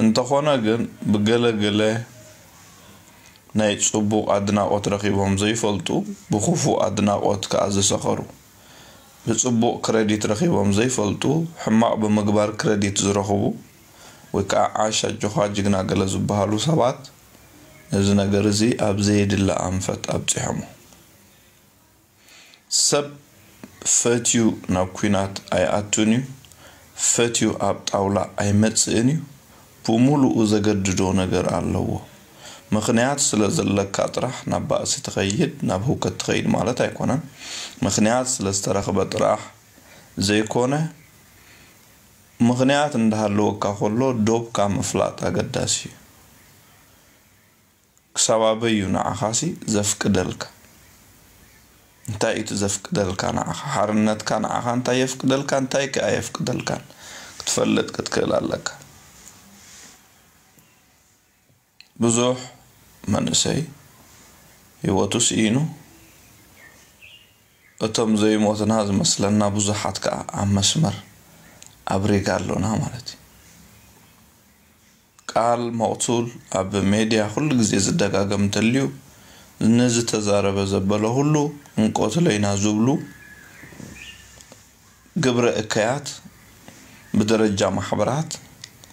እንተኾነ ግን ብገለ ገለ ናይ ጽቡቕ ኣድናቖት ረኺቦም ዘይፈልጡ፣ ብኽፉእ ኣድናቖት ከኣ ዝሰኸሩ፣ ብጽቡቕ ክረዲት ረኺቦም ዘይፈልጡ፣ ሕማቕ ብምግባር ክረዲት ዝረኽቡ ወይ ከኣ ዓሽ ኣጆኻ ጅግና ገለ ዝበሃሉ ሰባት ነዚ ነገር እዚ ኣብ ዘየድሊ ኣንፈት ኣብጺሖሞ። ሰብ ፈትዩ ናብ ኲናት ኣይኣቱን እዩ፣ ፈትዩ ኣብ ጣውላ ኣይመጽእን እዩ። ብምሉኡ ዘገድዶ ነገር ኣለዎ። ምኽንያት ስለ ዘለካ ጥራሕ ናብ ባእሲ ትኸይድ፣ ናብ ህውከት ትኸይድ ማለት ኣይኮነን። ምኽንያት ስለ ዝተረኽበ ጥራሕ ዘይኮነ፣ ምኽንያት እንዳሃለወካ ከሎ ዶብካ ምፍላጥ ኣገዳሲ እዩ። ክሳብ ኣበይ እዩ ንዓኻሲ ዘፍቅደልካ? እንታይ እዩ እቲ ዘፍቅደልካ ንዓኻ? ሓርነትካ ንዓኻ እንታይ የፍቅደልካ፣ እንታይ ከኣ የፍቅደልካን ክትፈልጥ ክትክእል ኣለካ። ብዙሕ መንእሰይ ህይወቱ ስኢኑ፣ እቶም ዘይሞትና ዝመስለና ብዙሓት ከኣ ኣብ መስመር ኣብ ሪጋ ኣሎና ማለት እዩ። ቃል መቕቱል ኣብ ሜድያ ኩሉ ግዜ ዝደጋገም እንተልዩ፣ ንዝተዛረበ ዘበለ ኩሉ እንቆትለይና ዝብሉ ግብረ እከያት ብደረጃ ማሕበራት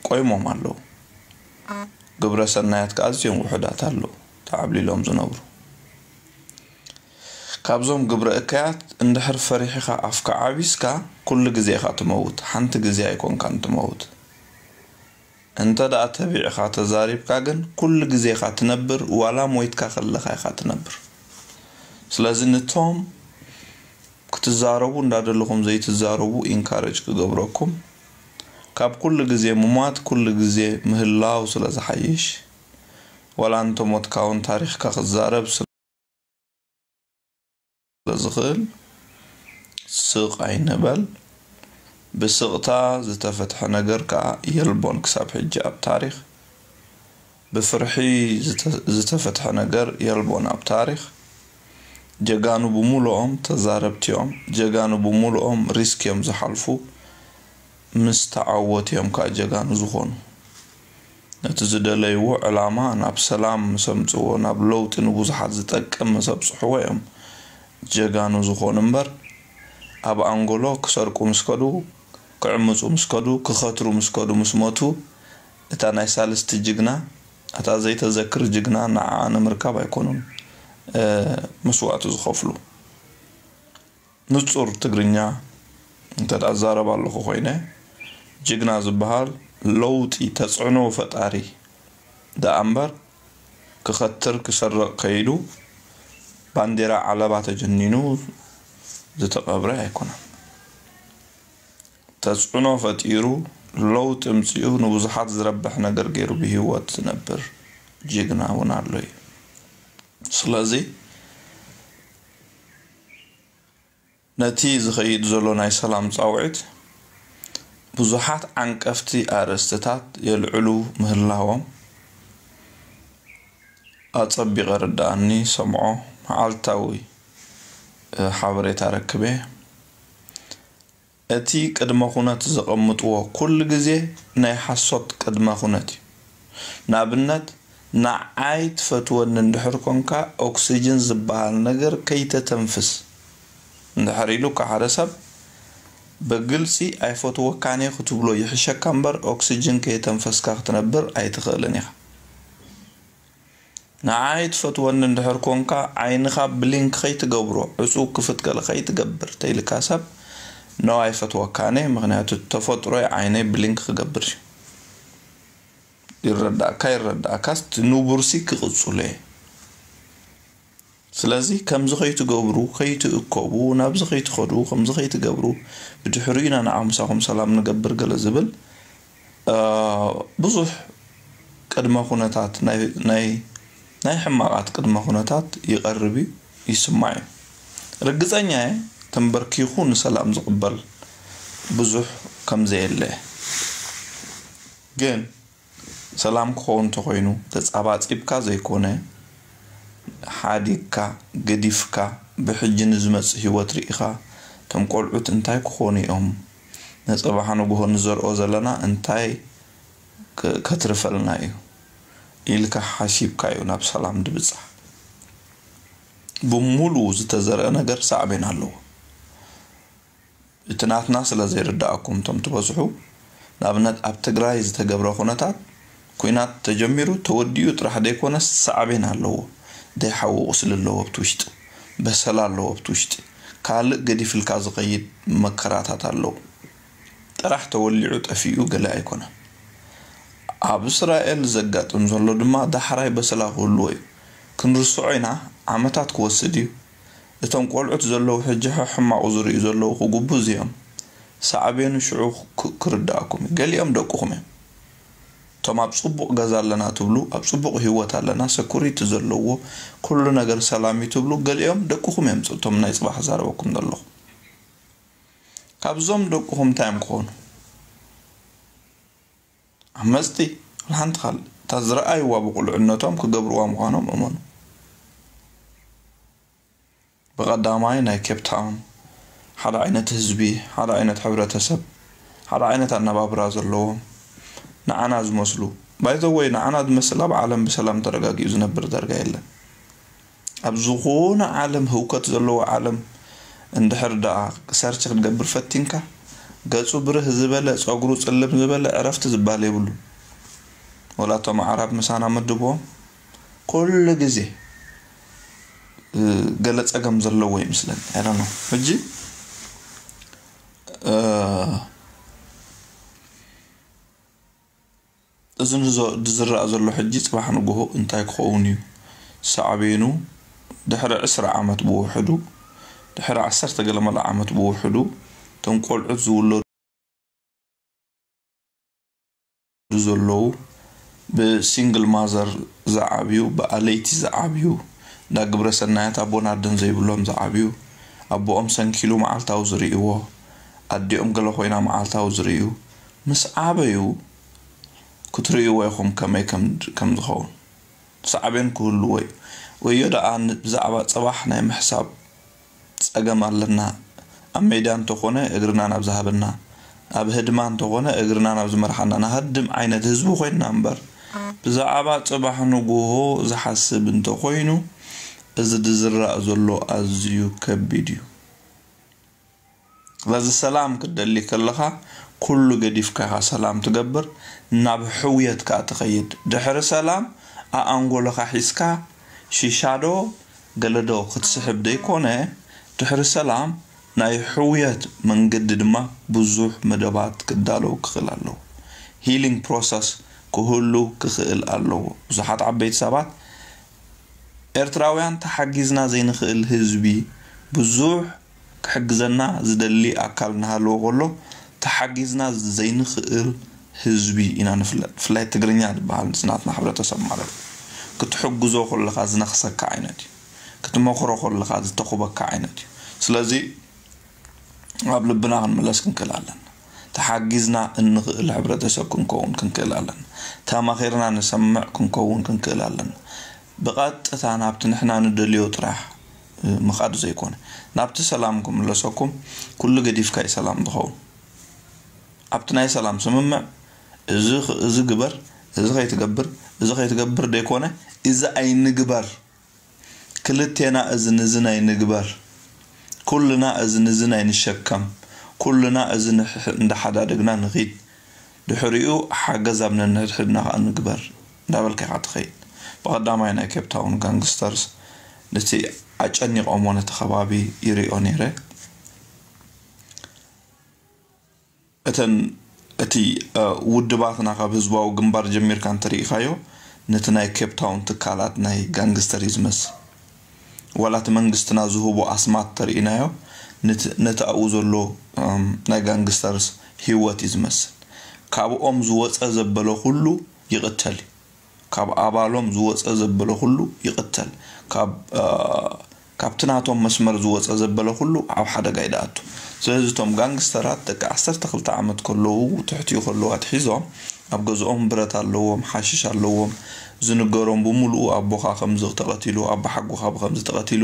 ቆይሞም ኣለዉ። ግብረ ሰናያት ከኣ ኣዝዮም ውሑዳት ኣለዉ፣ ተዓብሊሎም ዝነብሩ። ካብዞም ግብረ እከያት እንድሕር ፈሪሕኻ ኣፍካ ዓቢስካ፣ ኩሉ ግዜ ኢኻ ትመውት፣ ሓንቲ ግዜ ኣይኮንካን ትመውት። እንተ ደኣ ተቢዕኻ ተዛሪብካ ግን፣ ኩሉ ግዜ ኢኻ ትነብር፣ ዋላ ሞይትካ ከለኻ ኢኻ ትነብር። ስለዚ ንቶም ክትዛረቡ እንዳደለኹም ዘይትዛረቡ ኢንካረጅ ክገብረኩም፣ ካብ ኩሉ ግዜ ምሟት ኩሉ ግዜ ምህላው ስለ ዝሓይሽ፣ ዋላ እንተሞትካ እውን ታሪኽካ ክዛረብ ስለ ዝኽእል፣ ስቕ ኣይንበል። ብስቕታ ዝተፈትሐ ነገር ከኣ የልቦን ክሳብ ሕጂ ኣብ ታሪኽ። ብፍርሒ ዝተ-፣ ዝተፈትሐ ነገር የልቦን ኣብ ታሪኽ። ጀጋኑ ብምሉኦም ተዛረብቲ እዮም። ጀጋኑ ብምሉኦም ሪስክ እዮም ዝሓልፉ። ምስ ተዓወቱ እዮም ከኣ ጀጋኑ ዝኾኑ። ነቲ ዝደለይዎ ዕላማ ናብ ሰላም ምስ ኣምጽዎ፣ ናብ ለውጢ ንብዙሓት ዝጠቅም ምስ ኣብጽሕዎ እዮም ጀጋኑ ዝኾኑ እምበር፣ ኣብ ኣንጎሎ ክሰርቁ ምስ ከዱ፣ ክዕምጹ ምስ ከዱ፣ ክኸትሩ ምስ ከዱ፣ ምስ መቱ፣ እታ ናይ ሳልስቲ ጅግና፣ እታ ዘይተዘክር ጅግና ንዓኣ ንምርካብ ኣይኮኑን፣ እ፣ መስዋእቲ ዝኸፍሉ። ንጹር ትግርኛ እንተ ደኣ እዛረብ ኣለኹ ኮይነ፣ ጅግና ዝበሃል ለውጢ ተጽዕኖ ፈጣሪ ደኣ እምበር፣ ክኸትር ክሰርቕ ከይዱ ባንዴራ ዓለባ ተጀኒኑ ዝተቐብረ ኣይኮነን። ተጽዕኖ ፈጢሩ፣ ለውጢ ኣምጺኡ፣ ንብዙሓት ዝረብሕ ነገር ገይሩ ብህይወት ዝነብር ጅግና እውን ኣሎ እዩ። ስለዚ ነቲ ዝኸይድ ዘሎ ናይ ሰላም ጻውዒት ብዙሓት ዓንቀፍቲ ኣርእስትታት የልዕሉ ምህላዎም ኣጸቢቐ ርድኣኒ፣ ሰምዖ፣ መዓልታዊ፣ እ፣ ሓበሬታ ረክበ። እቲ ቅድመ ኩነት ዘቐምጥዎ ኩሉ ግዜ ናይ ሓሶት ቅድመ ኩነት እዩ። ንኣብነት፣ ንዓይ ትፈትወኒ እንድሕር ኮንካ፣ ኦክስጅን ዝበሃል ነገር ከይተተንፍስ እንድሕር ኢሉካ ሓደ ሰብ፣ ብግልጺ ኣይፈትወካን እየ ክትብሎ ይሕሸካ እምበር፣ ኦክስጅን ከየተንፈስካ ክትነብር ኣይትኽእልን ኢኻ። ንዓይ ትፈትወኒ እንድሕር ኮንካ፣ ዓይንኻ ብሊንክ ከይትገብሮ፣ ዕጹው ክፍት ገለ ከይትገብር ተይልካ ሰብ፣ ኖ ኣይፈትወካን እየ፣ ምኽንያቱ ተፈጥሮይ ዓይነይ ብሊንክ ክገብር እዩ። ይረዳእካ ይረዳእካስ፣ እቲ ንቡርሲ ክቕጽሎ እየ። ስለዚ ከምዚ ከይትገብሩ፣ ከይትእከቡ፣ ናብዚ ከይትኸዱ፣ ከምዚ ከይትገብሩ፣ ብድሕሪኡ ኢና ንዓ ምሳኹም ሰላም ንገብር ገለ ዝብል፣ እ፣ ብዙሕ ቅድመ ኩነታት፣ ናይ፣ ናይ፣ ናይ ሕማቓት ቅድመ ኩነታት ይቐርብ እዩ፣ ይስማዕ እዩ። ርግጸኛ እየ፣ ተንበርኪኹ ንሰላም ዝቕበል ብዙሕ ከም ዘየለ። ግን ሰላም ክኸውን እንተኾይኑ፣ ተጻባጺብካ ዘይኮነ፣ ሓዲግካ፣ ገዲፍካ፣ ብሕጂ ንዝመጽእ ህይወት ርኢኻ፣ እቶም ቆልዑት እንታይ ክኾኑ እዮም? ንጽባሕ ንግሆ ንዘርኦ ዘለና እንታይ ከትርፈልና እዩ ኢልካ ሓሲብካ እዩ ናብ ሰላም ድብጻሕ። ብሙሉ ዝተዘርአ ነገር ሳዕቤን ኣለዎ። እቲ ናትና ስለ ዘይርዳኣኩም እቶም ትበዝሑ፣ ንኣብነት ኣብ ትግራይ ዝተገብረ ኩነታት፣ ኩናት ተጀሚሩ ተወዲኡ ጥራሕ ዘይኮነስ ሳዕቤን ኣለዎ። ደይሓዊ ቁስሊ ኣለዎ ኣብቲ ውሽጢ፣ በሰላ ኣለዎ ኣብቲ ውሽጢ፣ ካልእ ገዲፍልካ ዝኸይድ መከራታት ኣለዎ። ጥራሕ ተወሊዑ ጠፊኡ ገለ ኣይኮነን። ኣብ እስራኤል ዘጋጥም ዘሎ ድማ ዳሕራይ በሰላ ክህልዎ እዩ። ክንርስዖ ኢና፣ ዓመታት ክወስድ እዩ። እቶም ቆልዑት ዘለዉ ሕጂ ሕማቑ ዝርእዩ ዘለዉ ክጉብዙ እዮም። ሳዕቤኑ ሽዑ ክርድኣኩም እዩ። ገሊኦም ደቅኹም እዮም። እቶም ኣብ ጽቡቕ ገዛ ኣለና ትብሉ፣ ኣብ ጽቡቕ ህይወት ኣለና፣ ሰኩሪቲ ዘለዎ ኩሉ ነገር ሰላም እዩ ትብሉ፣ ገሊኦም ደቅኹም እዮም። እቶም ናይ ጽባሕ ዛረበኩም ዘለኹ ካብዞም ደቅኹም እንታይ እዮም ክኾኑ? ኣብ መጽጢ ሓንቲ ካል እታ ዝረኣይዋ ብቁልዕነቶም ክገብርዋ ምዃኖም እመኑ። ብቐዳማይ ናይ ኬፕ ታውን ሓደ ዓይነት ህዝቢ፣ ሓደ ዓይነት ሕብረተሰብ፣ ሓደ ዓይነት ኣነባብራ ዘለዎም፣ ንዓና ዝመስሉ፣ ባይዘወይ ንዓና ዝመስል ኣብ ዓለም ብሰላም ተረጋጊኡ ዝነብር ዳርጋ የለን። ኣብ ዝኾነ ዓለም፣ ህውከት ዘለዎ ዓለም እንድሕር ደኣ ሰርች ክትገብር ፈቲንካ፣ ገጹ ብርህ ዝበለ፣ ጸጉሩ ጽልም ዝበለ ዕረፍቲ ዝበሃል የብሉ። ወላ እቶም ኣዕራብ ምሳና ምድብዎም ኩሉ ግዜ ገለ ጸገም ዘለዎ ይመስለኒ። I don't know። ሕጂ እዚ ዝረኣ ዘሎ ሕጂ ጽባሕ ንግሆ እንታይ ክኸውን እዩ ሳዕቤኑ? ድሕሪ ዕስራ ዓመት ብውሕዱ፣ ድሕሪ ዓሰርተ ገለ መለ ዓመት ብውሕዱ እቶም ቆልዑት ዝውለዱ ዘለዉ፣ ብሲንግል ማዘር ዝዓብዩ፣ ብኣለይቲ ዝዓብዩ፣ እንዳ ግብረ ሰናያት ኣቦን ኣደን ዘይብሎም ዝዓብዩ፣ ኣቦኦም ሰንኪሉ መዓልታዊ ዝርእይዎ፣ ኣዲኦም ገለ ኮይና መዓልታዊ ዝርእዩ፣ ምስ ዓበዩ ክትርእይዎ ኢኹም ከመይ ከም ከም ዝኸውን። ሳዕቤን ክህልዎ እዩ። ወዮ ደኣ ብዛዕባ ጽባሕ ናይ ምሕሳብ ጸገም ኣለና። ኣብ ሜዳ እንተኾነ እግርና ናብ ዝሃበና፣ ኣብ ህድማ እንተኾነ እግርና ናብ ዝመርሓና ንሃድም ዓይነት ህዝቢ ኮይንና እምበር፣ ብዛዕባ ጽባሕ ንግሆ ዝሓስብ እንተኾይኑ፣ እዚ ዝረኣ ዘሎ ኣዝዩ ከቢድ እዩ። ስለዚ ሰላም ክትደሊ ከለኻ ኩሉ ገዲፍካ ኢኻ ሰላም ትገብር፣ ናብ ሕውየት ከኣ ትኸይድ። ድሕሪ ሰላም ኣኣንጎለኻ ሒዝካ ሺሻዶ ገለዶ ክትስሕብ ደይኮነ፣ ድሕሪ ሰላም ናይ ሕውየት መንገዲ ድማ ብዙሕ መደባት ክዳለው ክኽእል ኣለዎ። ሂሊንግ ፕሮሰስ ክህሉ ክኽእል ኣለዎ። ብዙሓት ዓበይቲ ሰባት ኤርትራውያን ተሓጊዝና ዘይንኽእል ህዝቢ ብዙሕ ክሕግዘና ዝደሊ ኣካል እናሃለወ ከሎ ተሓጊዝና ዘይንኽእል ህዝቢ ኢና ንፍለጥ። ብፍላይ ትግርኛ ዝበሃል ዝናትና ሕብረተሰብ ማለት እዩ። ክትሕግዞ ከለኻ ዝነኽሰካ ዓይነት እዩ። ክትመኽሮ ከለኻ ዝተኹበካ ዓይነት እዩ። ስለዚ ኣብ ልብና ክንምለስ ክንክእል ኣለና። ተሓጊዝና እንኽእል ሕብረተሰብ ክንከውን ክንክእል ኣለና። ተማኺርና ንሰምዕ ክንከውን ክንክእል ኣለና። ብቐጥታ ናብቲ ንሕና ንደልዮ ጥራሕ ምኻድ ዘይኮነ፣ ናብቲ ሰላም ክምለሰኩም ኩሉ ገዲፍካ እዩ ሰላም ዝኸውን። ኣብቲ ናይ ሰላም ስምምዕ እዚ ኽ- እዚ ግበር፣ እዚ ከይትገብር፣ እዚ ከይትገብር ደይኮነ፣ እዚ ኣይንግበር። ክልቴና እዚ ንዚ ናይ ንግበር፣ ኩልና እዚ ንዚ ናይ ንሸከም፣ ኩልና እዚ ንሕ- እንዳሓዳደግና ንኺድ። ድሕሪኡ ሓገዝ ኣብ ነንሕድሕድና ከኣ ንግበር እንዳበልካ ኢኻ ትኸይድ። ብቐዳማይ ናይ ኬፕ ታውን ጋንግስተርስ ነቲ ኣጨኒቖሞ ነቲ ከባቢ ይሪኦ ነይረ። እተን እቲ ውድባትና ካብ ህዝባዊ ግንባር ጀሚርካ እንተሪኢኻዮ ነቲ ናይ ኬፕ ታውን ትካላት ናይ ጋንግስተር እዩ ዝመስል። ዋላ እቲ መንግስትና ዝህቦ ኣስማት ተሪኢናዮ ነቲ ኣብኡ ዘሎ ናይ ጋንግስተርስ ህይወት እዩ ዝመስል። ካብኦም ዝወፀ ዘበለ ኩሉ ይቕተል እዩ። ካብ ኣባሎም ዝወፀ ዘበለ ኩሉ ይቕተል። ካብ ካብቲ ናቶም መስመር ዝወፀ ዘበለ ኩሉ ኣብ ሓደጋ እዩ ድኣቱ። ስለዚ እቶም ጋንግስተራት ደቂ ዓሰርተ ክልተ ዓመት ከለዉ ትሕቲኡ ከለዉ ኣትሒዞም ኣብ ገዝኦም ብረት ኣለዎም፣ ሓሽሽ ኣለዎም፣ ዝንገሮም ብምሉኡ ኣቦኻ ከምዚ ተቐቲሉ፣ ኣቦ ሓጎኻ ብከምዚ ተቐቲሉ፣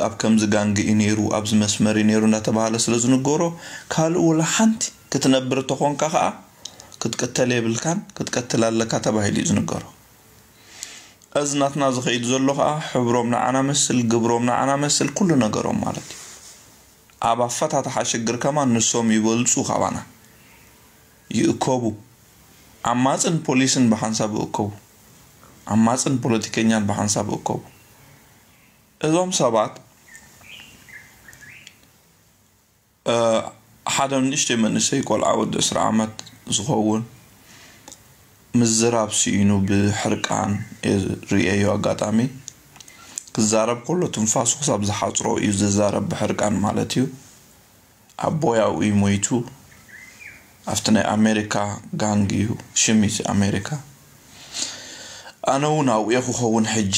ኣብ ከምዚ ጋንግ እዩ ነይሩ፣ ኣብዚ መስመር እዩ ነይሩ እንዳተባሃለ ስለ ዝንገሮ ካልእ ወላ ሓንቲ ክትነብር ተኾንካ ከዓ ክትቅተል የብልካን፣ ክትቀትል ኣለካ ተባሂሉ እዩ ዝንገሮ። እዚ ናትና ዝኸይድ ዘሎ ኸዓ ሕብሮም ንዓና መስል፣ ግብሮም ንዓና መስል፣ ኩሉ ነገሮም ማለት እዩ። ኣብ ኣፈታትሓ ሽግር ከማን ንሶም ይበልጹ ካባና። ይእከቡ። ዓማጽን ፖሊስን ብሓንሳብ ይእከቡ። ዓማጽን ፖለቲከኛን ብሓንሳብ ይእከቡ። እዞም ሰባት፣ እ፣ ሓደ ንእሽተይ መንእሰይ ቆልዓ ወዲ ዕስራ ዓመት ዝኸውን ምዝራብ ስኢኑ ብሕርቃን እየ ርእየዮ። ኣጋጣሚ ክዛረብ ከሎ ትንፋሱ ክሳብ ዝሓጽሮ እዩ ዝዛረብ፣ ብሕርቃን ማለት እዩ። ኣቦይ ኣብኡ እዩ ሞይቱ። ኣብቲ ናይ ኣሜሪካ ጋንግ እዩ ሽም እቲ ኣሜሪካ። ኣነ እውን ኣብኡ እየ ክኸውን ሕጂ፣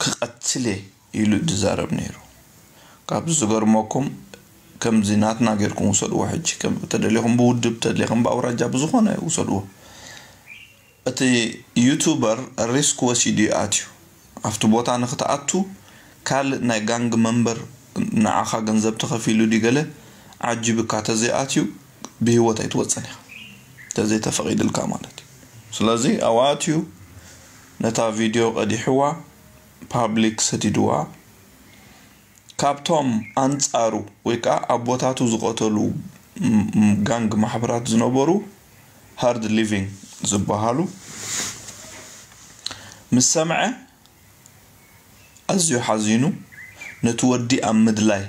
ክቐትል እየ ኢሉ ዝዛረብ ነይሩ። ካብ ዝገርመኩም፣ ከምዚ ናትና ጌርኩም ውሰድዎ። ሕጂ ከም ተደሊኹም ብውድብ፣ ተደሊኹም ብኣውራጃ፣ ብዝኾነ ውሰድዎ። እቲ ዩቱበር ሪስክ ወሲዱ እዩ ኣትዩ። ኣብቲ ቦታ ንክትኣቱ ካልእ ናይ ጋንግ መንበር ንዓኻ ገንዘብ ተኸፊሉ ድዩ ገለ ዓጂብካ ተዘይኣትዩ ብህይወት ኣይትወፅን ኢኻ፣ ተዘይተፈቒድልካ ማለት እዩ። ስለዚ ኣብኡ ኣትዩ ነታ ቪድዮ ቀዲሕዋ፣ ፓብሊክ ሰዲድዋ። ካብቶም ኣንጻሩ ወይ ከዓ ኣቦታቱ ዝቐተሉ ም-፣ ም-፣ ጋንግ ማሕበራት ዝነበሩ ሃርድ ሊቪንግ ዝበሃሉ ምስ ሰምዐ ኣዝዩ ሓዚኑ፣ ነቲ ወዲ ኣብ ምድላይ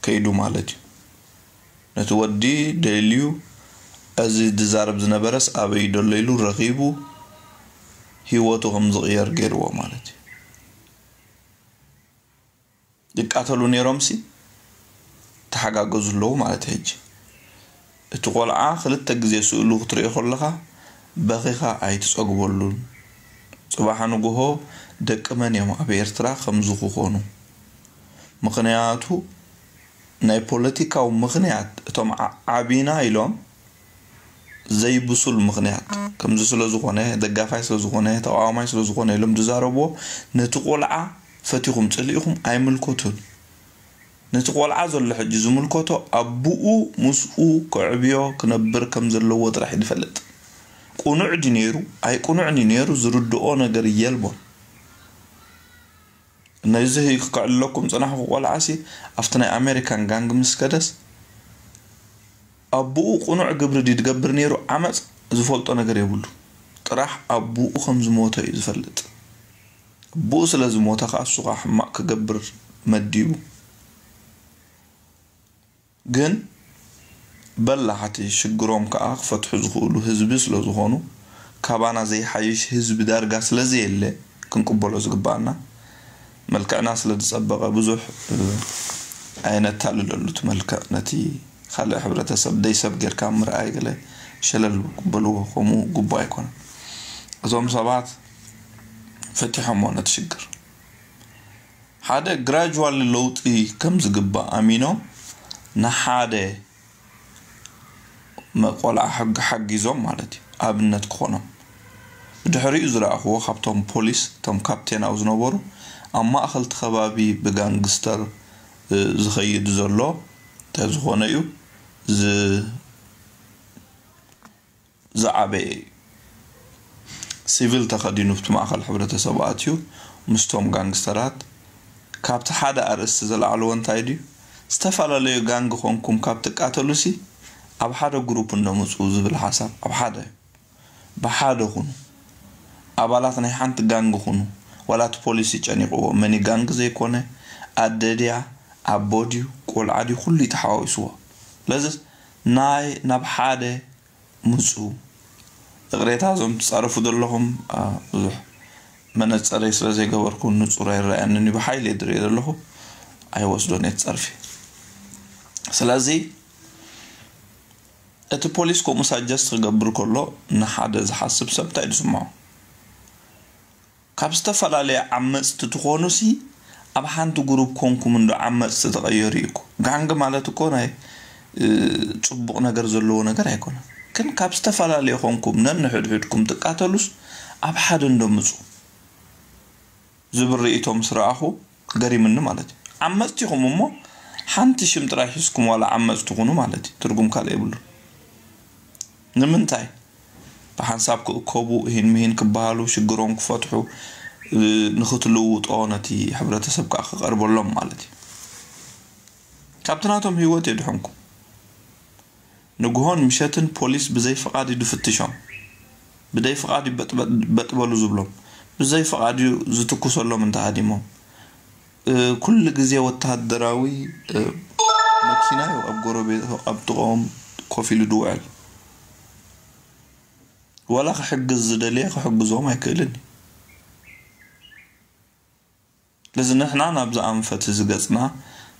ከይዱ ማለት እዩ። ነቲ ወዲ ደልዩ፣ እዚ ዝዛረብ ዝነበረስ ኣበይ ደሎ ኢሉ ረኺቡ፣ ህይወቱ ከም ዝቕየር ገይርዎ ማለት እዩ። ይቃተሉ ነይሮምሲ ተሓጋገዙ ኣለዉ ማለት እዩ። ሕጂ እቲ ቆልዓ ክልተ ግዜ ስእሉ ክትሪኦ ከለኻ በኺኻ ኣይትጸግበሉን። ጽባሕ ንግሆ ደቂ መን እዮም ኣብ ኤርትራ ከምዚ ክኾኑ? ምኽንያቱ ናይ ፖለቲካዊ ምኽንያት እቶም ዓ-፣ ዓቢና ኢሎም ዘይብሱል ምኽንያት፣ ከምዚ ስለ ዝኾነ፣ ደጋፋይ ስለ ዝኾነ፣ ተቃዋማይ ስለ ዝኾነ ኢሎም ዝዛረብዎ፣ ነቲ ቆልዓ ፈቲኹም ጽሊእኹም ኣይምልከቱን። ነቲ ቆልዓ ዘሎ ሕጂ ዝምልከቶ ኣቡኡ ምስኡ ከዕብዮ ክነብር ከም ዘለዎ ጥራሕ እዩ ዝፈልጥ። ቁኑዕ ድዩ ነይሩ ኣይቁኑዕን እዩ ነይሩ ዝርድኦ ነገር የልቦን። ነዚ ከዕልለኩም ጽናሕኩ ቆልዓሲ ኣብቲ ናይ ኣሜሪካን ጋንግ ምስ ከደስ ኣቡኡ ቁኑዕ ግብሪ ድዩ ዝገብር ነይሩ ዓመጽ ዝፈልጦ ነገር የብሉ። ጥራሕ ኣቡኡ ከም ዝሞተ እዩ ዝፈልጥ። ኣቡኡ ስለ ዝሞተ ከኣ እሱ ከኣ ሕማቕ ክገብር መዲቡ። ግን በላሕቲ ሽግሮም ከኣ ክፈትሑ ዝኽእሉ ህዝቢ ስለ ዝኾኑ፣ ካባና ዘይሓይሽ ህዝቢ ዳርጋ ስለ ዘየለ ክንቅበሎ ዝግባኣና፣ መልክዕና ስለ ዝጸበቐ ብዙሕ፣ እ፣ ኣየነታልለሉ እቲ መልክዕ። ነቲ ካልእ ሕብረተሰብ ደይ ሰብ ጌርካ ምርኣይ ገለ ሸለል በልዎ፣ ከምኡ ግቡእ ኣይኮነን። እዞም ሰባት ፈቲሖሞ ነቲ ሽግር። ሓደ ግራጅዋሊ ለውጢ ከም ዝግባእ ኣሚኖም ንሓደ መ-፣ ቆልዓ ሕጊ ሓጊዞም ማለት እዩ፣ ኣብነት ክኾኖም። ብድሕሪኡ ዝረኣኽዎ ካብቶም ፖሊስ፣ እቶም ካፕቴናዊ ዝነበሩ፣ ኣብ ማእኸል እቲ ከባቢ ብጋንግስተር፣ እ፣ ዝኸይድ ዘሎ እንተዝኾነ እዩ ዝ-፣ ዝዓበየ እዩ። ሲቪል ተኸዲኑ ኣብቲ ማእኸል ሕብረተሰብ ኣትዩ ምስቶም ጋንግስተራት። ካብቲ ሓደ ኣርእስቲ ዘልዓልዎ እንታይ ድዩ? ዝተፈላለዩ ጋንግ ኾንኩም ካብ ትቃተሉሲ ኣብ ሓደ ግሩፕ እንዶ ምፁ ዝብል ሓሳብ። ኣብ ሓደ፣ ብሓደ ኩኑ። ኣባላት ናይ ሓንቲ ጋንግ ኩኑ። ዋላ እቲ ፖሊሲ ጨኒቕዎ። መን እዩ ጋንግ ዘይኮነ? ኣደ ድያ? ኣቦ ድዩ? ቆልዓ ድዩ? ኩሉ እዩ ተሓዋዊስዎ። ስለዚ ናይ ናብ ሓደ ምጹ። ይቕሬታ እዞም ትጻረፉ ዘለኹም፣ ኣ፣ ብዙሕ መነጸረይ ስለ ዘይገበርኩ ንጹር ኣይረኣየንን እዩ። ብሓይሊ እየ ዝርኢ ዘለኹ። ኣይወስዶን እየ እቲ ጸርፊ። ስለዚ እቲ ፖሊስ ከምኡ ሳጀስት ክገብር ከሎ ንሓደ ዝሓስብ ሰብ እንታይ እዩ ዝስምዖ? ካብ ዝተፈላለየ ዓመጽቲ ትኾኑሲ ኣብ ሓንቲ ግሩፕ ኮንኩም እንዶ ዓመጽቲ ትቐየሩ እዩ እኮ። ጋንግ ማለት እኮ ናይ፣ እ፣ ጽቡቕ ነገር ዘለዎ ነገር ኣይኮነን። ግን ካብ ዝተፈላለየ ኮንኩም ነንሕድሕድኩም ትቃተሉስ ኣብ ሓደ እንዶ ምጹ ዝብል ርእይቶ ምስ ረኣኹ ገሪምኒ ማለት እዩ። ዓመጽቲ ኢኹም እሞ ሓንቲ ሽም ጥራይ ሒዝኩም ዋላ ዓመጽቲ ኩኑ ማለት እዩ። ትርጉም ካልእ የብሉን። ንምንታይ? ብሓንሳብ ክእከቡ፣ እሂን ምሂን ክበሃሉ፣ ሽግሮም ክፈትሑ፣ እ፣ ንኽትልውጦ፣ ነቲ ሕብረተሰብ ከኣ ክቐርበሎም ማለት እዩ። ካብቲ ናቶም ህይወት የድሕንኩም። ንግሆን ምሸትን ፖሊስ ብዘይ ፍቓድ እዩ ድፍትሾም። ብዘይ ፍቓድ እዩ በጥ-፣ በጥ-፣ በጥበሉ ዝብሎም። ብዘይ ፍቓድ እዩ ዝትኩሰሎም እንተሃዲሞም። እ፣ ኩሉ ግዜ ወተሃደራዊ፣ እ፣ መኪና እዩ ኣብ ጎረቤት፣ ኣብ ጥቕኦም ኮፍ ኢሉ ድውዕል። ዋላ ክሕግዝ ዝደለየ ክሕግዞም ኣይክእልን እዩ። ስለዚ ንሕና ናብዚ ኣንፈት እዚ ገጽና፣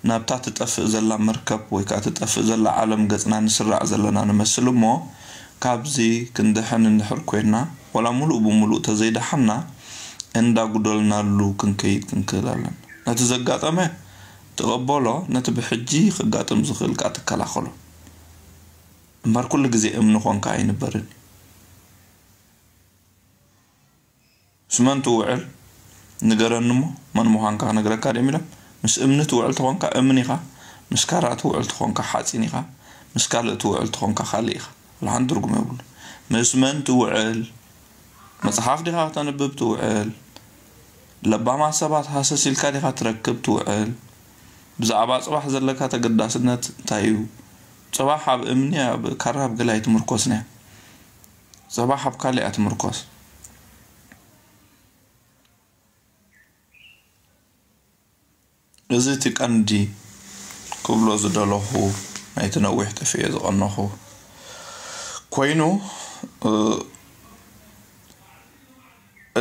ናብታ ትጠፍእ ዘላ መርከብ ወይ ከኣ ትጠፍእ ዘላ ዓለም ገጽና ንስራዕ ዘለና ንመስል እሞ፣ ካብዚ ክንድሕን እንድሕር ኮይንና፣ ዋላ ሙሉእ ብሙሉእ ተዘይደሓንና፣ እንዳጉደልናሉ ክንከይድ ክንክእል ኣለና። ነቲ ዘጋጠመ ተቐበሎ፣ ነቲ ብሕጂ ክጋጥም ዝኽእል ከኣ ትከላኸሎ። እምበር ኩሉ ግዜ እምኒ ኾንካ ኣይንበርን። ምስ መን ትውዕል ንገረኒ እሞ፣ መን ምዃንካ ክነግረካ ድዮም ኢሎም። ምስ እምኒ ትውዕል ተኾንካ እምኒ ኢኻ፣ ምስ ካራ ትውዕል ተኾንካ ሓጺን ኢኻ፣ ምስ ካልእ ትውዕል ተኾንካ ካልእ ኢኻ። ወላ ሓንቲ ትርጉም የብሉን። ምስ መን ትውዕል? መጽሓፍ ዲኻ ክተንብብ ትውዕል? ለባማት ሰባት ሃሰስ ኢልካ ዲኻ ትረክብ ትውዕል? ብዛዕባ ጽባሕ ዘለካ ተገዳስነት እንታይ እዩ? ጽባሕ ኣብ እምኒ፣ ኣብ ካራ፣ ኣብ ገለ ኣይትምርኮስን እያ። ጽባሕ ኣብ ካልእ እያ ትምርኮስ። እዚ እቲ ቀንዲ ክብሎ ዝደለኹ፣ ናይቲ ነዊሕ ጠፊኤ ዝቐነኹ ኮይኑ፣ እ፣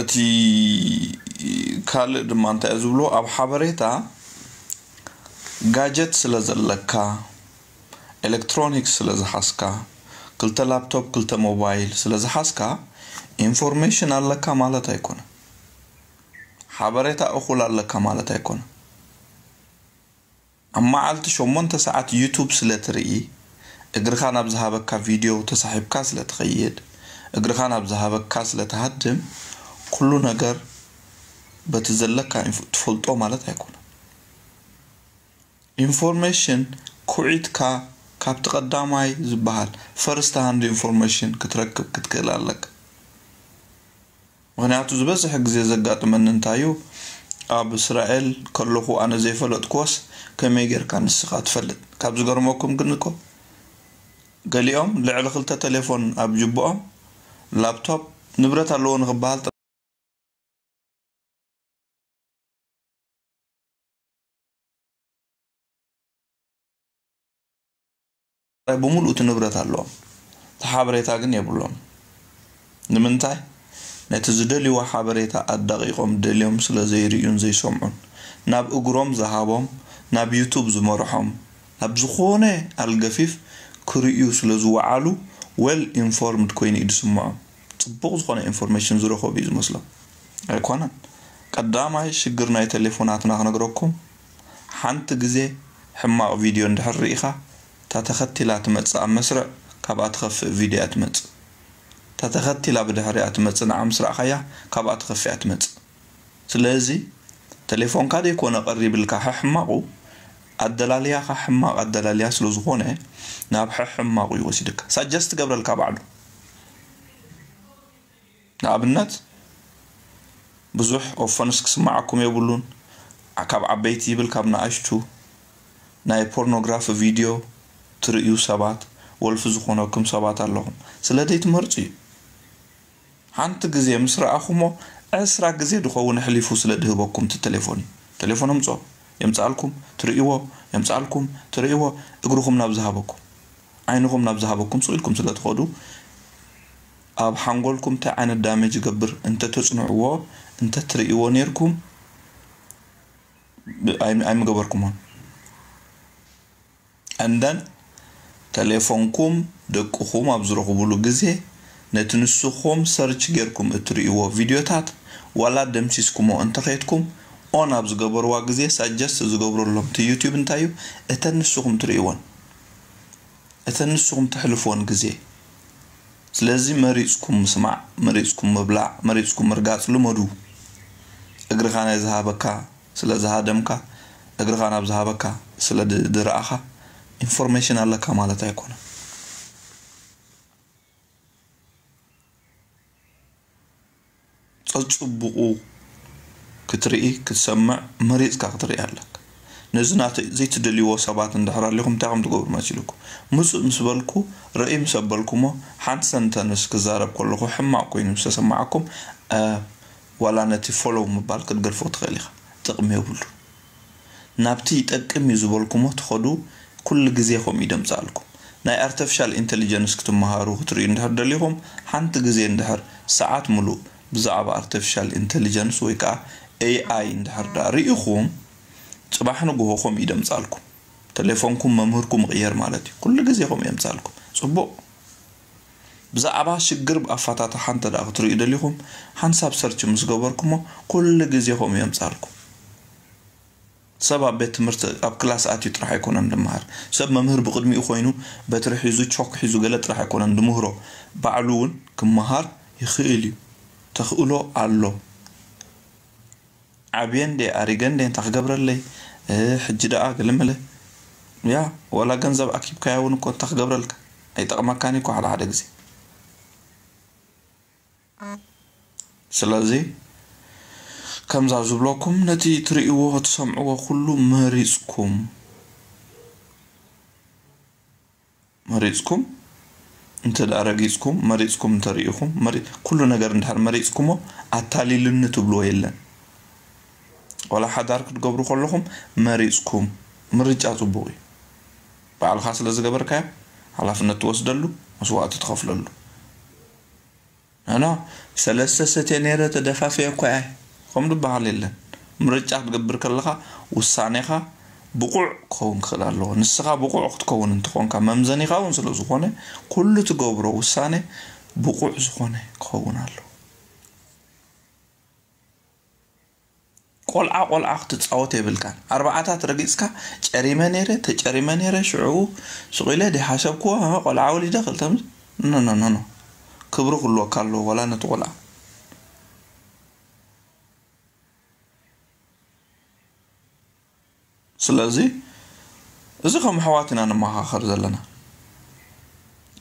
እቲ ካልእ ድማ እንታይ እዩ ዝብሎ፣ ኣብ ሓበሬታ ጋጀት ስለ ዘለካ፣ ኤሌክትሮኒክስ ስለ ዝሓዝካ፣ ክልተ ላፕቶፕ፣ ክልተ ሞባይል ስለ ዝሓዝካ፣ ኢንፎርሜሽን ኣለካ ማለት ኣይኮነን። ሓበሬታ እኹል ኣለካ ማለት ኣይኮነን። ኣብ መዓልቲ ሸሞንተ ሰዓት ዩቱብ ስለ ትርኢ፣ እግርኻ ናብ ዝሃበካ ቪድዮ ተሳሒብካ ስለ ትኸይድ፣ እግርኻ ናብ ዝሃበካ ስለ ትሃድም፣ ኩሉ ነገር በቲ ዘለካ ኢንፎ-፣ ትፈልጦ ማለት ኣይኮነን። ኢንፎርሜሽን ኩዒትካ ካብቲ ቀዳማይ ዝበሃል ፈርስት ሃንድ ኢንፎርሜሽን ክትረክብ ክትክእል ኣለካ። ምኽንያቱ ዝበዝሕ ግዜ ዘጋጥመኒ እንታይ እዩ፣ ኣብ እስራኤል ከለኹ ኣነ ዘይፈለጥክዎስ ከመይ ጌርካ ንስኻ ትፈልጥ? ካብ ዝገርመኩም ግን እኮ ገሊኦም ልዕሊ ክልተ ቴሌፎን ኣብ ጅብኦም፣ ላፕቶፕ፣ ንብረት ኣለዎ ንኽበሃል ጥራይ ብምሉእ እቲ ንብረት ኣለዎም። እቲ ሓበሬታ ግን የብሎም። ንምንታይ? ነቲ ዝደልይዎ ሓበሬታ ኣዳቒቖም ደልዮም ስለ ዘይርእዩን ዘይሰምዑን፣ ናብ እግሮም ዝሃቦም፣ ናብ ዩቱብ ዝመርሖም፣ ናብ ዝኾነ ኣልገፊፍ ክርእዩ ስለ ዝወዓሉ፣ ዌል ኢንፎርምድ ኮይኑ እዩ ዝስምዖም። ጽቡቕ ዝኾነ ኢንፎርሜሽን ዝረኸቡ እዩ ዝመስሎም። ኣይኮነን። ቀዳማይ ሽግር ናይ ቴሌፎናትና ክነግረኩም፣ ሓንቲ ግዜ ሕማቕ ቪድዮ እንድሕር ርኢኻ፣ እታ ተኸቲላ ትመጽእ ኣብ መስርዕ፣ ካብኣ ትኸፍእ ቪድዮ እያ ትመጽእ። እታ ተኸቲላ ብድሕሪኣ ትመጽእ ንዓ ምስ ረኣኻያ፣ ካብኣ ትኸፍእ እያ ትመጽእ። ስለዚ፣ ቴሌፎንካ ዘይኮነ ቀሪብልካ ሕሕማቑ፣ ኣደላልያኻ ሕማቕ ኣደላልያ ስለ ዝኾነ፣ ናብ ሕሕማቑ እዩ ወሲድካ። ሳጀስት ትገብረልካ ባዕሉ። ንኣብነት፣ ብዙሕ ኦፈንስ ክስምዓኩም የብሉን። ካብ ዓበይቲ ይብል ካብ ንኣሽቱ ናይ ፖርኖግራፊ ቪድዮ ትርእዩ ሰባት፣ ወልፊ ዝኾነኩም ሰባት ኣለኹም። ስለ ዘይትመርጹ እዩ። ሓንቲ ግዜ ምስ ረኣኹሞ፣ ዕስራ ግዜ ድኸውን ኣሕሊፉ ስለ ድህበኩም እቲ ቴሌፎን እዩ። ቴሌፎን ኣምጽኦ፣ የምጽኣልኩም፣ ትርእይዎ፣ የምጽኣልኩም፣ ትርእይዎ፣ እግርኹም ናብ ዝሃበኩም፣ ዓይንኹም ናብ ዝሃበኩም ስቕ ኢልኩም ስለ ትኸዱ፣ ኣብ ሓንጎልኩም እንታይ ዓይነት ዳሜጅ ይገብር እንተ ተጽንዕዎ፣ እንተ ትርእይዎ ኔርኩም፣ ብ-፣ ኣይ-፣ ኣይምገበርኩሞን። And then፣ ቴሌፎንኩም ደቅኹም ኣብ ዝረኽቡሉ ግዜ፣ ነቲ ንስኹም ሰርች ጌርኩም እትርእይዎ ቪድዮታት፣ ዋላ ደምሲስኩሞ እንተኸድኩም፣ ኦን ኣብ ዝገበርዋ ግዜ፣ ሳጀስት ዝገብረሎም እቲ ዩቲዩብ እንታይ እዩ? እተን ንስኹም ትርእይወን፣ እተን ንስኹም ተሕልፍዎን ግዜ። ስለዚ መሪጽኩም ምስማዕ፣ መሪጽኩም ምብላዕ፣ መሪጽኩም ምርጋጽ ልመዱ። እግርኻ ናይ ዝሃበካ ስለ ዝሃደምካ፣ እግርኻ ናብ ዝሃበካ ስለ ድ-፣ ድረኣኻ፣ ኢንፎርሜሽን ኣለካ ማለት ኣይኮነን። ኣጽቡቑ ክትርኢ ክትሰምዕ መሪጽካ ክትርኢ ኣለካ። ነዚ ናተ ዘይትደልይዎ ሰባት እንድሕር ኣሊኹም እንታይ ከም ትገብሩ መሲልኩም? ምጹእ ምስ በልኩ ርእይ ምስ ኣበልኩሞ ሓንቲ ሰንተንስ ክዛረብ ከለኹ ሕማቕ ኮይኑ ምስ ተሰማዓኩም ዋላ ነቲ ፎሎው ምባል ክትገድፎ ትኽእል ኢኻ። ጥቕሚ የብሉ። ናብቲ ይጠቅም እዩ ዝበልኩሞ ትኸዱ ኩሉ ግዜ ከምኡ ይደምጻልኩም። ናይ ኣርተፊሻል ኢንተሊጀንስ ክትመሃሩ ክትርእዩ እንድሕር ደሊኹም ሓንቲ ግዜ እንድሕር ሰዓት ምሉእ ብዛዕባ ኣርተፊሻል ኢንተሊጀንስ ወይ ከዓ ኤኣይ እንድሕር ዳ ርኢኹም ጽባሕ ንግሆ ከምኡ ይደምጻልኩም። ተሌፎንኩም መምህርኩም ይቕየር ማለት እዩ። ኩሉ ግዜ ከምኡ የምጻልኩም። ጽቡቕ። ብዛዕባ ሽግር ብኣፋታትሓ እንተ ደኣ ክትርእዩ ደሊኹም ሓንሳብ ሰርች ምስ ገበርኩሞ ኩሉ ግዜ ከምኡ የምጻልኩም። ሰብ ኣብ ቤት ትምህርቲ ኣብ ክላስ ኣትዩ ጥራሕ ኣይኮነን ድመሃር። ሰብ መምህር ብቕድሚኡ ኮይኑ በትሪ ሒዙ ቾክ ሒዙ ገለ ጥራሕ ኣይኮነን ድምህሮ። ባዕሉ እውን ክመሃር ይኽእል እዩ። ተኽእሎ ኣሎ። ዓብየ እንዴ ኣሪገ እንዴ እንታይ ክገብረለይ ሕጂ ደኣ ገለመለ ያ ወላ ገንዘብ ኣኪብካያ እውን እኮ እንታይ ክገብረልካ ኣይጠቕመካን እኮ ሓደ ሓደ ግዜ። ስለዚ ከምዛ ዝብለኩም ነቲ ትርእይዎ ትሰምዕዎ ኩሉ መሪፅኩም መሪፅኩም እንተ ደኣ ረጊፅኩም መሪፅኩም እንተርኢኹም ኩሉ ነገር እንድሕር መሪፅኩሞ ኣታሊሉኒ ትብልዎ የለን። ዋላ ሓዳር ክትገብሩ ከለኹም መሪፅኩም ምርጫ ፅቡቕ እዩ። ባዕልኻ ስለ ዝገበርካዮ ሓላፍነት ትወስደሉ መስዋእቲ ትኸፍለሉ። ኣና ሰለስተ ሰትየ ነይረ ተደፋፍየ እኳ እየ ከም ዝበሃል የለን። ምርጫ ክትገብር ከለኻ ውሳኔኻ ብቑዕ ክኸውን ክኽእል ኣለዎ። ንስኻ ብቑዕ ክትከውን እንትኾንካ መምዘኒኻ እውን ስለ ዝኾነ ኩሉ ትገብሮ ውሳኔ ብቑዕ ዝኾነ ክኸውን ኣለዎ። ቆልዓ ቆልዓ ክትፃወት የብልካን። ኣርባዓታት ረጊፅካ ጨሪመ ነይረ ተጨሪመ ነይረ ሽዑ ስቕ ኢለ ደይሓሰብክዎ ቆልዓ ወሊደ ክልተ ኖ ኖ ኖ ኖ ክብሪ ክልወካ ኣለዎ ዋላ ነቲ ቆልዓ። ስለዚ እዚ ከም ኣሕዋት ኢና ንመኻኸር ዘለና።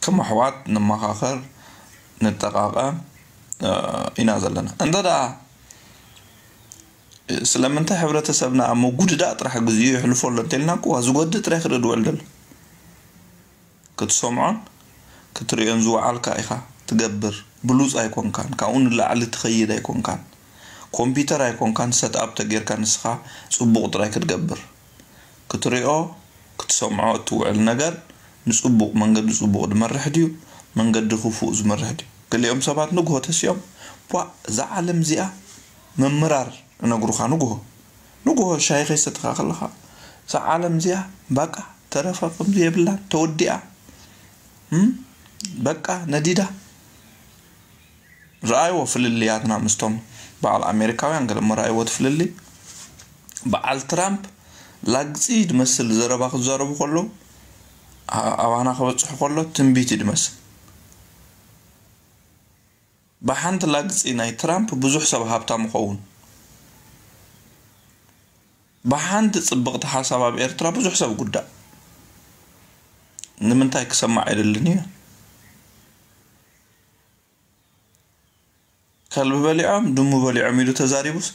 ከም ኣሕዋት ንመኻኸር ንጠቓቐም ኢና ዘለና። እንተ ደኣ ስለምንታይ ሕብረተሰብና ኣብ መጉድዳእ ጥራሕ ግዜኡ የሕልፎ ኣሎ እንተልና እኮ ዝጎድእ ጥራይ ክርኢ ድውዕል ዘሎ። ክትሰምዖን ክትርእዮን ዝወዓልካ ኢኻ ትገብር። ብሉጽ ኣይኮንካን፣ ካብኡ ንላዕሊ ትኸይድ ኣይኮንካን። ኮምፒተር ኣይኮንካን ሰትኣፕ ተጌርካ ንስኻ ጽቡቕ ጥራይ ክትገብር። ክትሪኦ ክትሰምዖ እትውዕል ነገር ንጽቡቕ መንገዲ ጽቡቕ ዝመርሕ ድዩ መንገዲ ክፉእ ዝመርሕ ድዩ? ገሊኦም ሰባት ንግሆ ተሲኦም ቧእ እዛ ዓለም እዚኣ ምምራር እነግሩኻ ንግሆ ንግሆ ሻሂ ከይሰተኻ ከለኻ እዛ ዓለም እዚኣ ባቃ ተረፈ ከምዚ የብላን ተወዲኣ በቃ ነዲዳ። ረኣይዎ ፍልልያትና ምስቶም በዓል ኣሜሪካውያን ገለሞ ረኣይዎ እቲ ፍልልይ። በዓል ትራምፕ ላግፂ ዝመስል ዘረባ ክዛረቡ ከለዉ ኣባና ክበፅሑ ከሎ ትንቢት እዩ ዝመስል። ብሓንቲ ላግፂ ናይ ትራምፕ ብዙሕ ሰብ ሃብታም ይኸውን። ብሓንቲ ፅብቕቲ ሓሳብ ኣብ ኤርትራ ብዙሕ ሰብ ጉዳእ። ንምንታይ ክሰማዕ የደልን እዩ። ከልቢ በሊዖም ድሙ በሊዖም ኢሉ ተዛሪቡስ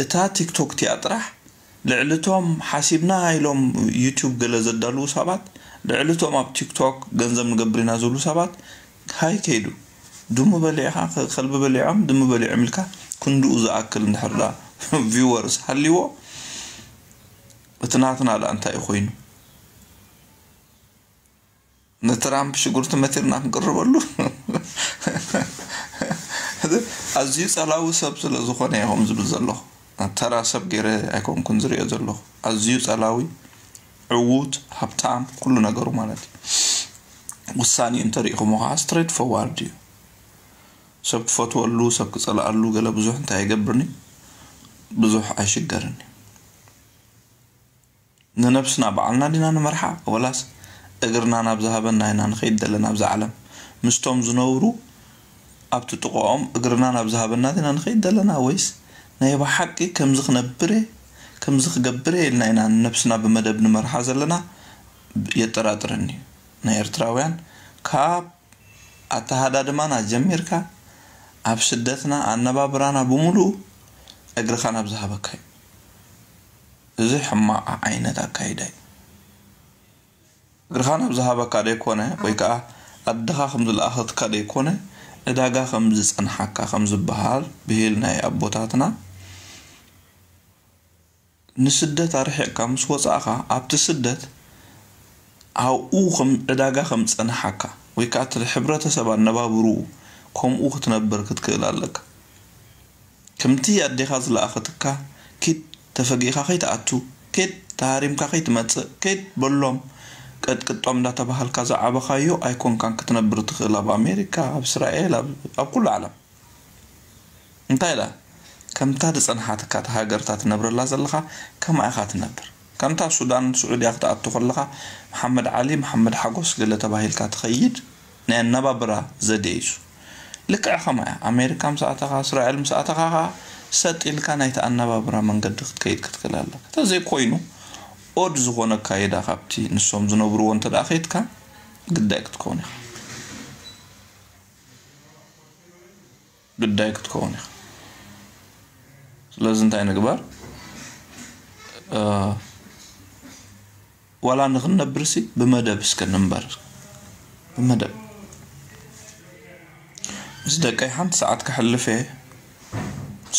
እታ ቲክቶክ ቲያ ጥራሕ ልዕልቶም ሓሲብና ኢሎም ዩቱብ ገለ ዘዳልዉ ሰባት ልዕልቶም ኣብ ቲክቶክ ገንዘብ ንገብር ኢና ዝብሉ ሰባት ሃይ ከይዱ ድሙ በሊዕኻ ከልቢ በሊዖም ድሙ በሊዖም ኢልካ ክንድኡ ዝኣክል እንድሕር ዳ ቪወርስ ሃልይዎ እቲ ናትና ዳ እንታይ እዩ ኮይኑ ንትራምፕ ሽጉርቲ መቲርና ክንቅርበሉ ኣዝዩ ጸላዊ ሰብ ስለ ዝኾነ እዮም ዝብል ዘለኹ። ተራ ሰብ ገይረ ኣይኮንኩን ዝሪኦ ዘለኹ። ኣዝዩ ጸላዊ፣ ዕዉት፣ ሃብታም፣ ኩሉ ነገሩ ማለት እዩ። ውሳኔኡ እንተሪኢኹሞ ከዓ ስትሬት ፎርዋርድ እዩ። ሰብ ክፈትወሉ፣ ሰብ ክጸልኣሉ ገለ ብዙሕ እንታይ ኣይገብርን እዩ። ብዙሕ ኣይሽገርን እዩ። ንነብስና ባዕልና ዲና ንመርሓ ወላስ እግርና ናብ ዝሃበና ኢና ንኸይድ ዘለና ኣብዛ ዓለም? ምስቶም ዝነብሩ ኣብቲ ጥቕኦም እግርና ናብ ዝሃበና ዲና ንኸይድ ዘለና ወይስ ናይ ብሓቂ ከምዚ ክነብር እየ ከምዚ ክገብር እየ ኢልና ኢና ንነብስና ብመደብ ንመርሓ ዘለና? የጠራጥረኒ እዩ። ናይ ኤርትራውያን ካብ ኣተሃዳድማና ጀሚርካ ኣብ ስደትና ኣነባብራና ብምሉኡ እግርኻ ናብ ዝሃበካ እዩ። እዚ ሕማቕ ዓይነት ኣካይዳ እዩ። እግርኻ ናብ ዝሃበካ ደይኮነ፣ ወይ ከዓ ኣድኻ ከም ዝለኣኸትካ ደይኮነ፣ ዕዳጋ ከም ዝጸንሓካ ከም ዝበሃል ብሂል ናይ ኣቦታትና፣ ንስደት ኣርሒቕካ ምስ ወጻእኻ፣ ኣብቲ ስደት ኣብኡ ከም ዕዳጋ ከም ዝጸንሓካ፣ ወይ ከዓ እቲ ሕብረተሰብ ኣነባብርኡ ከምኡ ክትነብር ክትክእል ኣለካ። ከምቲ ኣዴኻ ዝለኣኸትካ፣ ኪድ ተፈጊእካ ከይትኣቱ፣ ኪድ ተሃሪምካ ከይትመጽእ፣ ኪድ በሎም፣ ቀጥቅጦም እንዳተባሃልካ ዝዓበኻዮ ኣይኮንካን ክትነብር ትኽእል። ኣብ ኣሜሪካ፣ ኣብ እስራኤል፣ ኣብ፣ ኣብ ኩሉ ዓለም። እንታይ ኢላ? ከምታ ዝጸንሓትካ እታ ሃገርታ ትነብረላ ዘለኻ፣ ከምኣ ኢኻ ትነብር። ከምታ ሱዳን፣ ስዑድያ ክትኣቱ ከለኻ፣ መሓመድ ዓሊ፣ መሓመድ ሓጎስ ገለ ተባሂልካ ትኸይድ ናይ ኣነባብራ ዘዴ እዩ። ልክዕ ከማያ፣ ኣሜሪካ ምስ ኣተኻ፣ እስራኤል ምስ ኣተኻ ኸኣ፣ ሰጥ ኢልካ ናይቲ ኣነባብራ መንገዲ ክትከይድ ክትክእል ኣለካ። እንተዘይኮይኑ፣ ኦድ ዝኾነ ኣካይዳ ካብቲ ንሶም ዝነብርዎ እንተ ደኣ ከይድካ፣ ግዳይ ክትከውን ኢኻ። ግዳይ ክትከውን ኢኻ። ስለዚ እንታይ ንግበር? እ፣ ዋላ ንኽንነብርሲ ብመደብ እስከ ንንበር። ብመደብ። ምስ ደቀይ ሓንቲ ሰዓት ከሕልፍ እየ።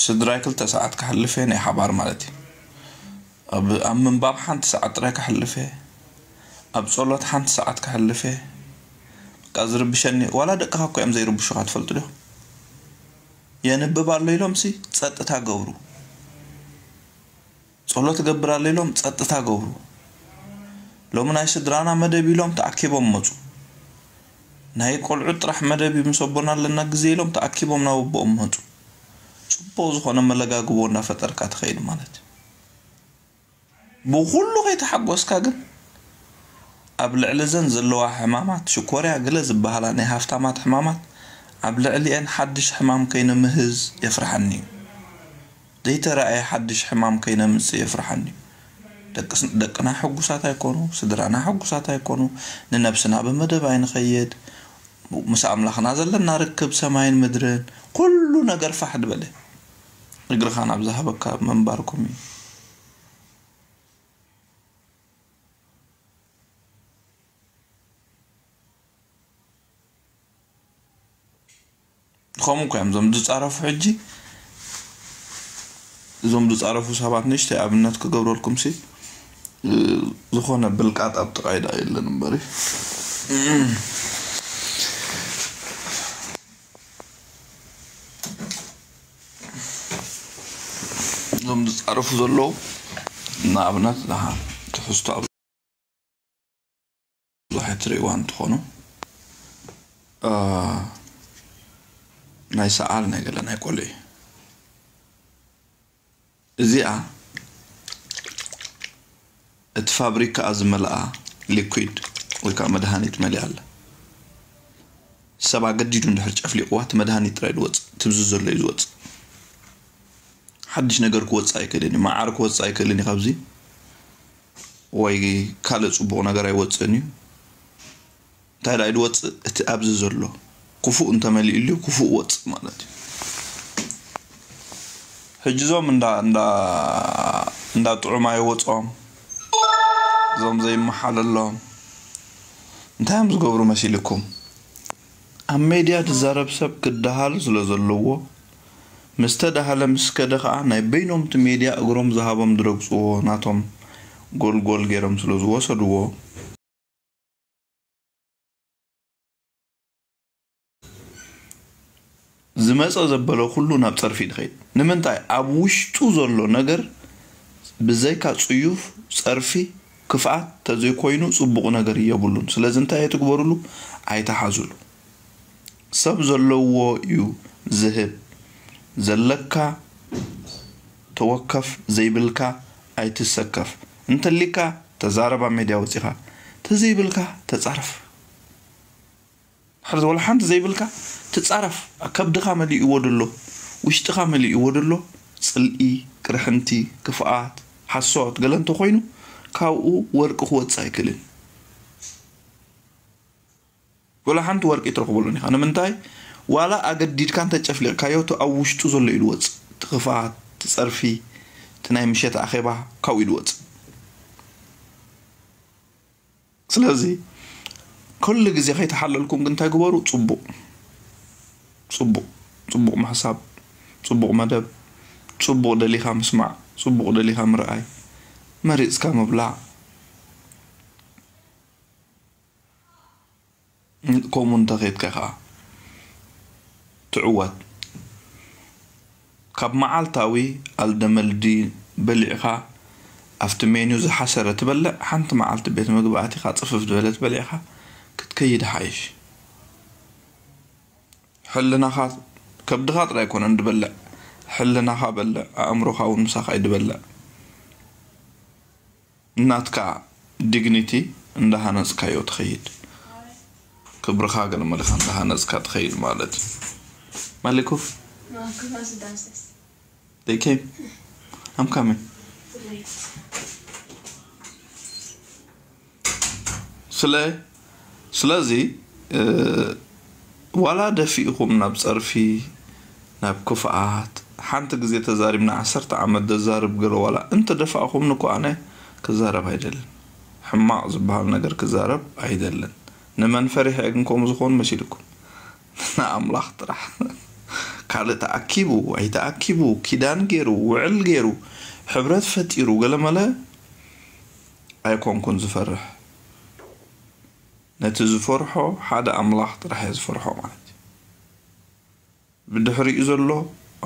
ስድራይ ክልተ ሰዓት ከሕልፍ እየ፣ ናይ ሓባር ማለት እዩ። ኣብ፣ ኣብ ምንባብ ሓንቲ ሰዓት ጥራይ ከሕልፍ እየ። ኣብ ጸሎት ሓንቲ ሰዓት ከሕልፍ እየ። በቃ ዝርብሸኒ፣ ዋላ ደቅኻ እኮ እዮም ዘይርብሹኻ፣ ትፈልጡ ዲኹም? የንብብ ኣሎ ኢሎምሲ ጸጥታ ገብሩ። ጸሎት እገብር ኣሎ ኢሎም ጸጥታ ገብሩ። ሎሚ ናይ ስድራና መደብ ኢሎም ተኣኪቦም መጹ። ናይ ቆልዑት ጥራሕ መደብ እዩ፣ ምስ ኣቦና ኣለና ግዜ ኢሎም ተኣኪቦም ናብ ኣቦኦም መጹ። ጽቡቕ ዝኾነ መለጋግቦ እንዳፈጠርካ ትኸይድ ማለት እዩ። ብኹሉ ከይተሓጎስካ ግን፣ ኣብ ልዕሊ እዘን ዘለዋ ሕማማት፣ ሽኮርያ ገለ ዝበሃላ ናይ ሃፍታማት ሕማማት፣ ኣብ ልዕሊኤን ሓድሽ ሕማም ከይነምህዝ የፍርሓኒ እዩ። ዘይተራእየ ሓድሽ ሕማም ከይነምጽእ የፍርሓኒ እዩ። ደቅስ-፣ ደቅና ሕጉሳት ኣይኮኑ፣ ስድራና ሕጉሳት ኣይኮኑ፣ ንነብስና ብመደብ ኣይንኸይድ፣ ምስ ኣምላኽና ዘለና ርክብ ሰማይን ምድርን፣ ኩሉ ነገር ፋሕ ድበለ። እግርኻ ናብ ዝሃበካ ምንባርኩም እዩ። ከምኡ እኮ እዮም እዞም ዝጻረፉ። ሕጂ እዞም ዝጻረፉ ሰባት፣ ንእሽተይ ኣብነት ክገብረልኩም ሲ፣ እ፣ ዝኾነ ብልቃጥ ኣብ ጥቓይ ደኣ የለን እምበሪ። እዞም ዝጻረፉ ዘለዉ፣ ንኣብነት፣ ደሓን ትሕዝቶ ኣብ ብዙሕ ትርእይዋ እንትኾኑ፣ እ፣ ናይ ሰዓል ናይ ገለ ናይ ቆልዑ እዩ። እዚኣ እቲ ፋብሪካኣ ዝመልኣ ሊኩዊድ ወይ ከዓ መድሃኒት መሊኣ ኣላ። ሰብ ኣገዲዱ እንድሕር ጨፍሊቕዋ፣ እቲ መድሃኒት ጥራይ ዝወፅእ፣ ትብዚ ዘሎ እዩ ዝወፅእ። ሓድሽ ነገር ክወፅእ ኣይክእልን እዩ። መዓር ክወፅእ ኣይክእልን እዩ ካብዚ፣ ወይ ካልእ ፅቡቕ ነገር ኣይወፅእን እዩ። እንታይ ደኣ ኢሉ ወፅእ? እቲ ኣብዚ ዘሎ ክፉእ እንተመሊእሉ ክፉእ ወፅእ ማለት እዩ። ሕጂ እዞም እንዳ፣ እንዳ፣ እንዳ ጥዑማይ ወፅኦም፣ እዞም ዘይመሓለሎም እንታይ እዮም ዝገብሩ መሲልኩም? ኣብ ሜድያ ዝዛረብ ሰብ ክደሃሉ ስለ ዘለዎ፣ ምስ ተዳሃለ ምስ ከደ ኸዓ ናይ በይኖም እቲ ሜድያ እግሮም ዝሃቦም ዝረግፅዎ ናቶም ጎልጎል ገይሮም ስለ ዝወሰድዎ፣ ዝመጸ ዘበለ ኩሉ ናብ ጸርፊ ድኸይድ። ንምንታይ? ኣብ ውሽጡ ዘሎ ነገር ብዘይካ ጽዩፍ ጸርፊ፣ ክፍኣት ተዘይኮይኑ ጽቡቕ ነገር የብሉን። ስለዚ እንታይ ኣይትግበሩሉ፣ ኣይትሓዙሉ። ሰብ ዘለዎ እዩ ዝህብ። ዘለካ ተወከፍ፣ ዘይብልካ ኣይትሰከፍ። እንተሊካ ተዛረብ ኣብ ሜድያ ወጺኻ፣ ተዘይብልካ ተጻረፍ። ድሕር ወላ ሓንቲ ዘይብልካ ትጻረፍ። ከብድኻ መሊእዎ ደሎ፣ ውሽጥኻ መሊእዎ ደሎ፣ ጽልኢ፣ ቅርሕንቲ፣ ክፍኣት፣ ሓሶት፣ ገለ እንተኾይኑ ካብኡ ወርቂ ክወጽእ ኣይክእልን። ወላ ሓንቲ ወርቂ ትረኽበሉን ኢኻ። ንምንታይ? ዋላ ኣገዲድካ እንተጨፍሊቕካዮ፣ እቲ ኣብ ውሽጡ ዘሎ እዩ ዝወጽእ። እቲ ክፍኣት፣ እቲ ጸርፊ፣ እቲ ናይ ምሸት ኣኼባ ካብኡ እዩ ዝወጽእ። ስለዚ፣ ኩሉ ግዜ ከይተሓለልኩም ግን እንታይ ግበሩ? ጽቡቕ፣ ጽቡቕ፣ ጽቡቕ ምሕሳብ፣ ጽቡቕ መደብ፣ ጽቡቕ ደሊኻ ምስማዕ፣ ጽቡቕ ደሊኻ ምርኣይ፣ መሪጽካ ምብላዕ። ከምኡ እንተኸይድካ ኸዓ ትዕወት። ካብ መዓልታዊ ኣልደመልዲ በሊዕኻ ኣብቲ ሜኑ ዝሓሰረ ትበልዕ፣ ሓንቲ መዓልቲ ቤት ምግቢ ኣቲኻ ጽፍፍ ዝበለት በሊዕኻ ክትከይድ ሓይሽ። ሕልናኻ፣ ከብድኻ ጥራይ ኣይኮነን ድበልዕ፣ ሕልናኻ በልዕ፣ ኣእምሮኻ እውን ምሳኻ እዩ ድበልዕ። ናትካ ዲግኒቲ እንዳሃነጽካዮ ትኸይድ። ክብርኻ ገለ መለኻ እንዳሃነጽካ ትኸይድ ማለት እዩ። መሊኩ? No, I'm coming. They came. I'm coming. ስለ ስለዚ፣ እ፣ ዋላ ደፊእኹም ናብ ጸርፊ፣ ናብ ክፍኣት፣ ሓንቲ ግዜ ተዛሪብና ዓሰርተ ዓመት ዘዛርብ ገለ ዋላ እንተ ደፋእኹምኒ እኮ ኣነ ክዛረብ ኣይደልን። ሕማቕ ዝበሃል ነገር ክዛረብ ኣይደልን። ንመን ፈሪሐ ግን ከምኡ ዝኾን መሲልኩም? ንኣምላኽ ጥራሕ። ካልእ ተኣኪቡ ኣይተኣኪቡ፣ ኪዳን ገይሩ፣ ውዕል ገይሩ፣ ሕብረት ፈጢሩ፣ ገለመለ ኣይኮንኩን ዝፈርሕ። ነቲ ዝፈርሖ ሓደ ኣምላኽ ጥራሕ እየ ዝፈርሖ ማለት እዩ። ብድሕሪኡ ዘሎ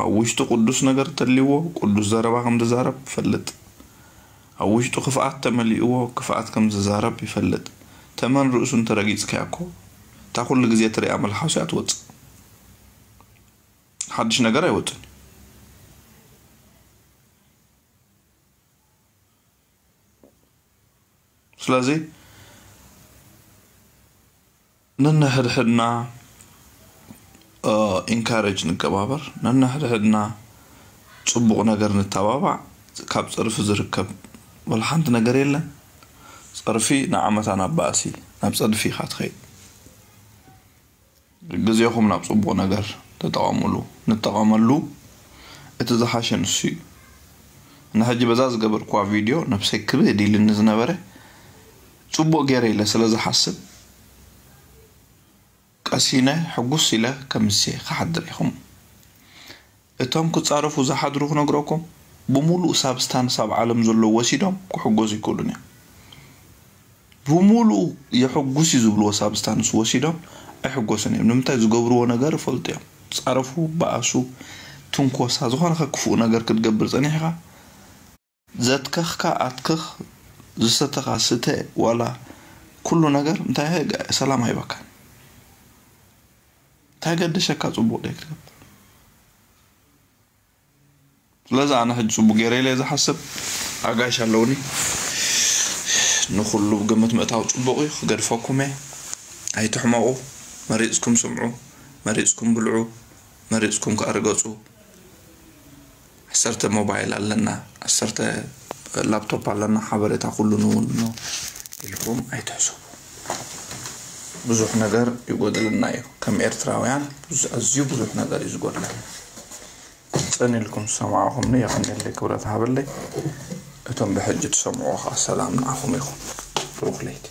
ኣብ ውሽጡ ቅዱስ ነገር ተልይዎ፣ ቅዱስ ዘረባ ከም ዝዛረብ ይፈልጥ። ኣብ ውሽጡ ክፍኣት ተመሊእዎ፣ ክፍኣት ከም ዝዛረብ ይፈልጥ። ተመን ርእሱ እንተረጊጽካዮ እኮ፣ እታ ኩሉ ግዜ ትሪኣ መልሓሱ እያ ትወጽእ። ሓድሽ ነገር ኣይወጽእን እዩ። ስለዚ ነንሕድሕድና፣ እ፣ ኢንካሬጅ ንገባበር፣ ነንሕድሕድና ጽቡቕ ነገር ንተባባዕ። ካብ ጸርፊ ዝርከብ ወላ ሓንቲ ነገር የለን። ጸርፊ ንዓመታ ናብ ባእሲ፣ ናብ ጸድፊ ኢኻ ትኸይድ። ግዜኹም ናብ ጽቡቕ ነገር ተጠቐሙሉ፣ ንጠቐመሉ። እቲ ዝሓሸ ንሱ እዩ። ንሕጂ በዛ ዝገበርኩዋ ቪድዮ ነብሰይ ክብድ ኢልኒ ዝነበረ፣ ጽቡቕ ገይረ ኢለ ስለ ዝሓስብ፣ ቀሲነ ሕጉስ ኢለ ከምሴ ክሓድር ኢኹም። እቶም ክጻረፉ ዝሓድሩ ክነግረኩም፣ ብምሉእ ሳብስታንስ ኣብ ዓለም ዘሎ ወሲዶም ክሕጎሱ ይክእሉን እዮም። ብምሉኡ የሕጉስ እዩ ዝብልዎ ሳብስታንስ ወሲዶም ኣይሕጎሱን እዮም። ንምንታይ? ዝገብርዎ ነገር ይፈልጡ እዮም። ጻረፉ፣ በኣሱ፣ ትንኮሳ፣ ዝኾነ ከ ክፉእ ነገር ክትገብር ጸኒሕካ፣ ዘትከኽካ ኣትክኽ፣ ዝሰተኻ ስተ፣ ዋላ ኩሉ ነገር እንታይ ሰላም ኣይበካን። እንታይ ገደሸካ ጽቡቕ ደይ ክትገብር? ስለዚ ኣነ ሕጂ ጽቡቕ ገይረ ኢለ ዝሓስብ ኣጋይሽ ኣለውኒ። ንኹሉ ግምት ምእታው ጽቡቕ እዩ፣ ክገድፈኩም እየ። ኣይትሕመቑ። መሪጽኩም ስምዑ፣ መሪጽኩም ብልዑ፣ መሪጽኩም ከኣ ርገጹ። ዓሰርተ ሞባይል ኣለና፣ ዓሰርተ ላፕቶፕ ኣለና፣ ሓበሬታ ኩሉ ንውንኖ ኢልኩም ኣይትሕሰቡ። ብዙሕ ነገር ይጎድለና እዩ። ከም ኤርትራውያን ብዙ-፣ ኣዝዩ ብዙሕ ነገር እዩ ዝጎድለና። ጽን ኢልኩም ዝሰማዕኹምኒ የቐንየለይ፣ ክብረት ሃበለይ። እቶም ብሕጂ ትሰምዑ ኸኣ ሰላም ንዓኹም ይኹን። ብሩኽ ለይቲ።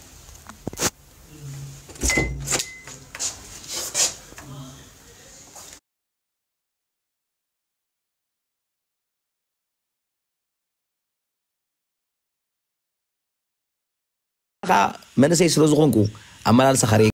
መንእሰይ ስለ ዝኾንኩ ኣመላልሳኻ ርኤ።